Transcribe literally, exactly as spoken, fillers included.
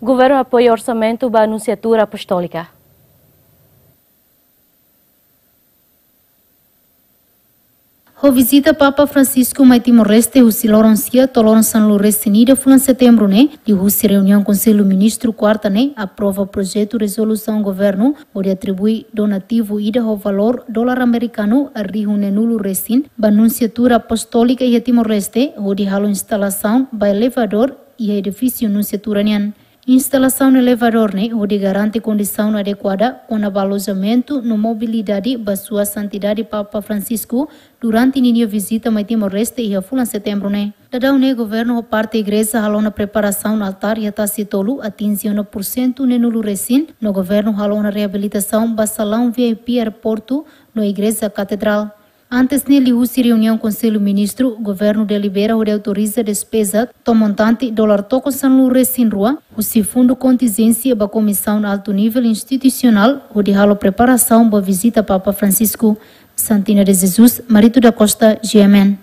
Governu apoia orsamentu ba Nunsiatura Apostólika. Ho vizita Papa Francisco mai Timor-Leste husi loron sia to'o loron sanulu-resin-ida fulan Setembru ne'e, liuhusi reuniaun Konsellu Ministru kuarta ne'e aprova projetu rezolusaun governu hodi atribui donativu ida ho valór dolar amerikanu rihun neenulu-resin ba Nunsiatura Apostólika iha Timor-Leste hodi halo instalasaun ba elevadór iha edifísiu Nunsiatura nian. Instalasaun elevadór ne'e hodi garante kondisaun adekuada kona-ba alojamentu no mobilidade ba Sua Santidade Papa Francisco durante ninia vizita mai Timor-Leste iha fulan Setembru ne'e. Daudaun ne'e governu ho parte igreja halo ona preparasaun altár iha tasi tolu atinje ona pursentu neenulu-resin, no governu halo ona reabilitasaun ba salaun V I P aeroportu no igreja katedrál. Antes ne'e, liuhusi reuniaun Konsellu Ministru, governu delibera hodi autoriza despeza to'o montante dolar tokon sanulu-resin-rua husi fundu kontinjénsia ba Komisaun Altu Nivel Institusionál hodi halo preparasaun ba vizita Papa Francisco. Santina de Jesus, Marito da Costa, G M N.